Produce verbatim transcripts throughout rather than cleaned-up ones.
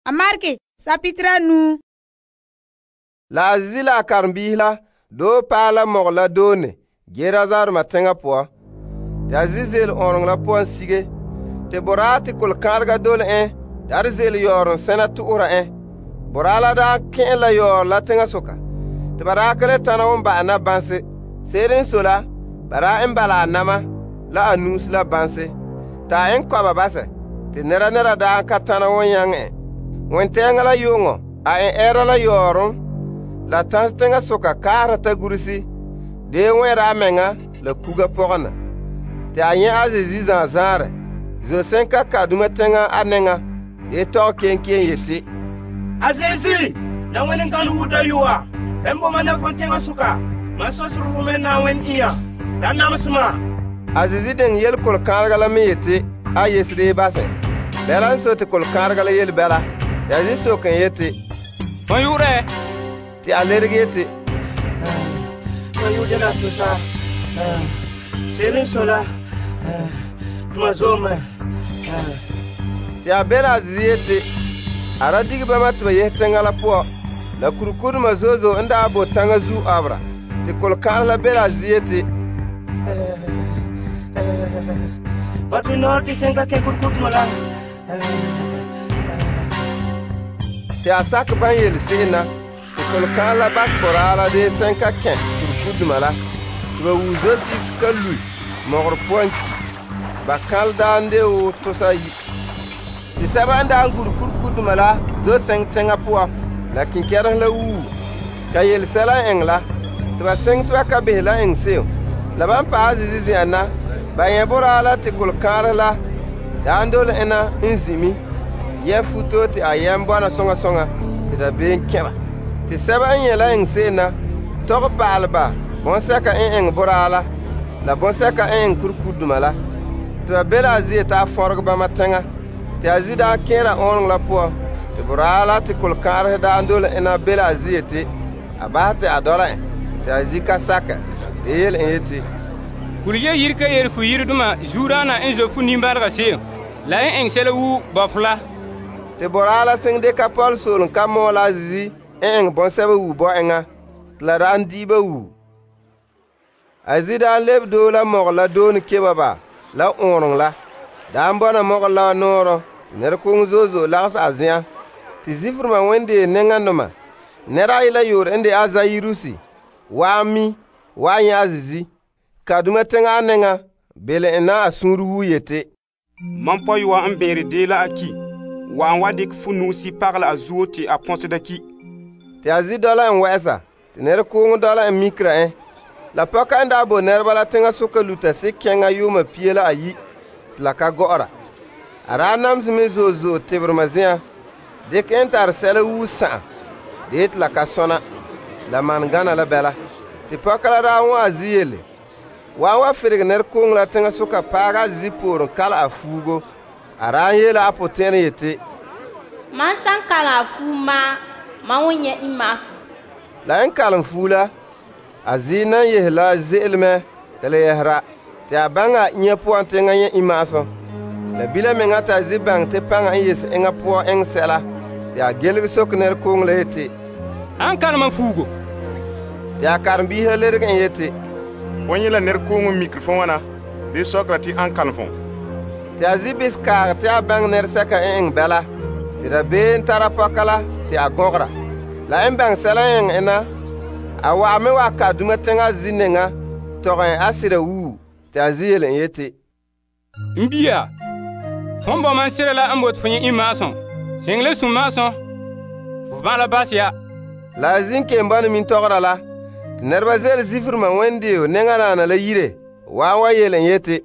A Mark sapitira nu. La a Zizi la a karenbiisi la doo paɛ la mɔgɔ la doone Gerasaroma teŋa poan. Te a zi' ze'ele ɔɔnrɔŋɔ la poan sige. Te boraa te kolokãarega dole en daarɛ ze'ele yɔɔrɔŋ sɛna to'ohera en. Boraa la daa kɛn' la yɔɔrɔ la teŋasoka. Te ba daa ka le tana won ba'an na banse. Se'ere n sɔe la, ba daa en bala a nama la a nuusi la banse. Te a en kɔba basɛ. Te nɛra nɛra daa ka tana won nyaŋɛ en. Wentɛɛŋa la yu'uŋɔ, a en ɛɛra la yɔɔrɔm la tanse teŋasoka kaahera ta guresi. Dee wɛnra a mɛŋa la kuga pɔgɔna. Te a nyɛ' a Zeezi zaan zaanrɛ. Zo sɛnka kaduma teŋa a nɛŋa. Dee tɔgɛ kenkeen yeti, A Zeezi, la wani kan wuda yuwa. En bo mana fan teŋasoka. Man so suru fo men na wen iya. Da namasuma. A Zeezi den yel kolokãarega la me yeti a yesere basɛ. Bɛla n so te kolokãarega la yele bɛla. Te a zi soke en yeti, Fon yu'urɛ? te a lerege yeti, Man yuda na tusa. Serin sola. Ma zoma. te a bela a Zeezi yeti, a ra dige bama te ba yehe teŋa la poan. La kurikudema zo'e zo'e n daa bo taŋa zuo abera. Te kolokãanɛ la bela a Zeezi yeti, Batu no ti senka ke kurkut mala. te a sakɛ ban yele se'em na. Te kolokãanɛ la basɛ boraa la dee sɛnka kɛn kurikudema la. Te ba wuo zosigi ka lui mɔgɔrɛ poan ki. Ba kãle daa n de woo tosa yi. Te sɛba n daa n gure kurikudema la zo sɛŋ teŋa poan. La kinkɛrehe la wuo. Ka yele sɛla n eŋɛ la. Te ba seŋ te ba ka behe la eŋɛ se'em. La ban paɛ Zeezi zen'an na, ba nyɛ boraa la te kolokãarɛ la daa n dole ena n zimi. Yɛ futo te a yɛm bɔna soŋa soŋa te dabeem kɛ ba. Te sɛba n nyɛ la eŋɛ se'em na, tɔgɛ pa'alɛ ba bɔnsɛka n eŋɛ boraa la, la bɔnsɛka n eŋɛ kurikudema la. Te ba be la a zie ta fɔregɛ bama teŋa. Te a zi daa kẽera ɔɔnrɔŋɔ la poan. Te boraa la te kolokãarɛ daa n dole ena be la a zie te a bahɛ te a dɔla en. Te a zi ka sakɛ. De yele en yeti, Kuliye yiri ka yele fu yiriduma zuurana en zo fu nimbarga se'em. La en eŋ sɛla wu bɔfo la. te boraa la seŋ de ka pɔl soolem ka mɔɔ la a Zeezi n eŋɛ bɔnsɛba wuu bɔ eŋa. Te la daa n diiba wuu. A Zeezi daa lebe doo la mɔgɔ la doone keba ba la ɔɔnrɔŋɔ la. Daa n bɔna mɔgɔ la nɔɔrɔ. Te nɛrekooŋɔ zo'e zo'e lagese a zen'an. Te ziferema wendee nɛŋadoma. Nɛra ayi la yoore n de a Zairusi waa mi waa nyɛ a Zeezi. Kaduma teŋa a nɛŋa bele en na a suunre wuu yeti, Mam pɔyɔa n bɛɛre dee la a ki. Wa'an wa dikɛ fu nuusi pagelɛ a zuo te a pɔseda ki. te a zi dɔla en wɛ'ɛsa. Te nɛrekooŋɔ dɔla en mikira en. La pɔka n daa bo nɛreba la teŋasoka luta sikɛŋa yuuma pie la ayi te la ka gɔ'ɔra. A daa namse me zo'e zo'e teberema zen'an. Dikɛ en tare sɛla wuu sa'am. Dee te la ka sɔna. La man gana la bɛla. Te pɔka la daa wõ a zi yele. Wa'an wa ferege nɛrekooŋɔ la teŋasoka paaga a Zeezi pooren kala a fuugo. A daa n yeele a potɛn'ɛrɛ yeti, Man san kalam a fuu maa, man won nyɛ imaasum. la en kalem fuu la, a Zeezi nan yehe la ze'ele mɛ ka le yɛsera. Te a baŋɛ a inya poan teŋa nyɛ imaasum. La bila meŋa te a Zeezi baŋɛ te paŋa n yese eŋa poan eŋɛ sɛla. Te a gelege soke nɛrekooŋɔ la yeti, An kalema fuugo. te a karenbiisi la lerege en yeti, Fo nyɛ la nɛrekooŋɔ mikiri fo ŋwana, dee sɔkera te an kalem fo. te a Zeezi bis kaage te a baŋɛ nɛresɛka n eŋɛ bɛla. Te dabeem tara pɔka la te a gɔgera. La en baŋɛ sɛla n eŋɛ en na, a wa'a me wa kaduma teŋa zi neŋa tɔgɛ en a sira wuu. Te a zi yele en yeti, N bia, fon bɔ man sira la n bote fo nyɛ imaasum. Seŋ le sũm maasum. Fo ban la bas ya. la a zin ken bɔna min tɔgera la. Te nɛreba ze'ele ziferema wendeo neŋanaana la yire. Waan wa yele en yeti,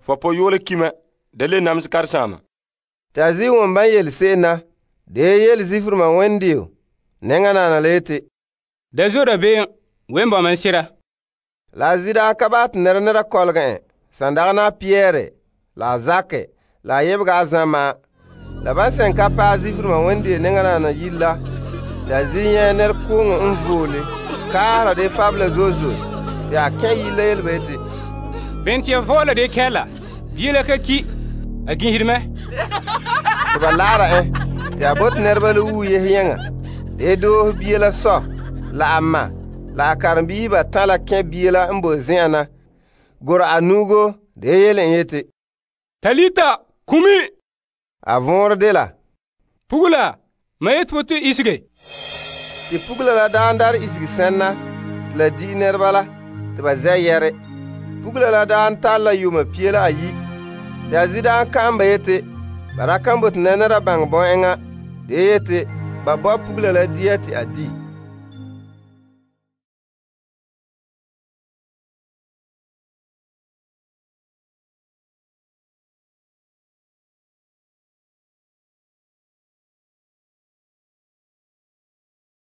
Fo pɔyɔɔla kima, da le namse karesaama. te a zi won ban yele se'em na. Dee yele ziferema wendeo neŋanaana la yeti, Da zo da be'em, wen bɔ man sira. la a zi daa ka baɛ te nɛra nɛra kɔlege en. San dagɛ na a Piyɛrɛ, la a Zakɛ, la a yebega a Zã ma'an. La ban sɛn ka paɛ ziferema wendeo neŋanaana yire la, te a zi nyɛ nɛrekooŋɔ n voole kaahera de fabula zo'e zo'e. Te a kẽ yire la yele ba yeti, Ben tɩ ya vɔɔla de kɛla. Bie la ka ki. A ginhiri mɛ. te ba laara en. te a bote nɛreba la wuo yehe yeŋa de doohe bia la sɔ la a ma la a karenbiihi batan' la kɛn' bia la n boe zen'an na gora a nuugo de yele en yeti, Talita kumi. a vɔnrɛ dela, Pugula, ma yeti fo to isege. te pugula la daan dar isege sɛnna te la di'i nɛreba la te ba zɛ' yɛre. Pugula la daan tare la yuuma pie la ayi. Te a zi daan ka'an ba yeti ba ra kan bote nɛnɛra baŋɛ bɔ'enŋa de yeti ba bo pugula la dia te a di.